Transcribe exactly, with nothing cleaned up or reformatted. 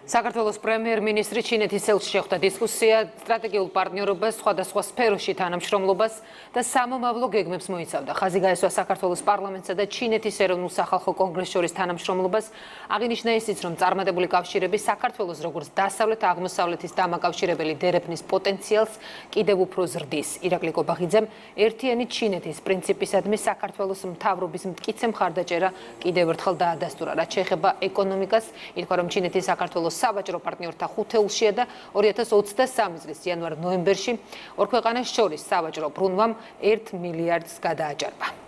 საქართველოს პრემიერ-მინისტრი ჩინეთის ელჩს შეხვდა დისკუსია სტრატეგიულ პარტნიორობას, სხვადასხვა სფეროში თანამშრომლობას და სამომავლო გეგმებს მოიცავდა. ხაზი გაესვა საქართველოს პარლამენტსა და ჩინეთის ეროვნულ სახალხო კონგრესს შორის თანამშრომლობას. აღინიშნა ისიც, რომ წარმატებული კავშირები საქართველოს როგორც დასავლეთ-აღმოსავლეთის დამაკავშირებელი დერეფნის პოტენციალს კიდევ უფრო ზრდის. ირაკლი კობახიძემ ერთიანი ჩინეთის პრინციპისადმი საქართველოს მთავრობის მტკიცე მხარდაჭერა კიდევ ერთხელ დაადასტურა. რაც შეეხება ეკონომიკას, ითქვა, რომ ჩინეთის საქართველოს საბაჭრო პარტნიორთა ხუთეულშია და ორი ათას ოცდასამი წლის იანვარ-ნოემბერში ორ ქვეყანას შორის საბაჭრო ბრუნვამ ერთ მილიარდს გადააჭარბა.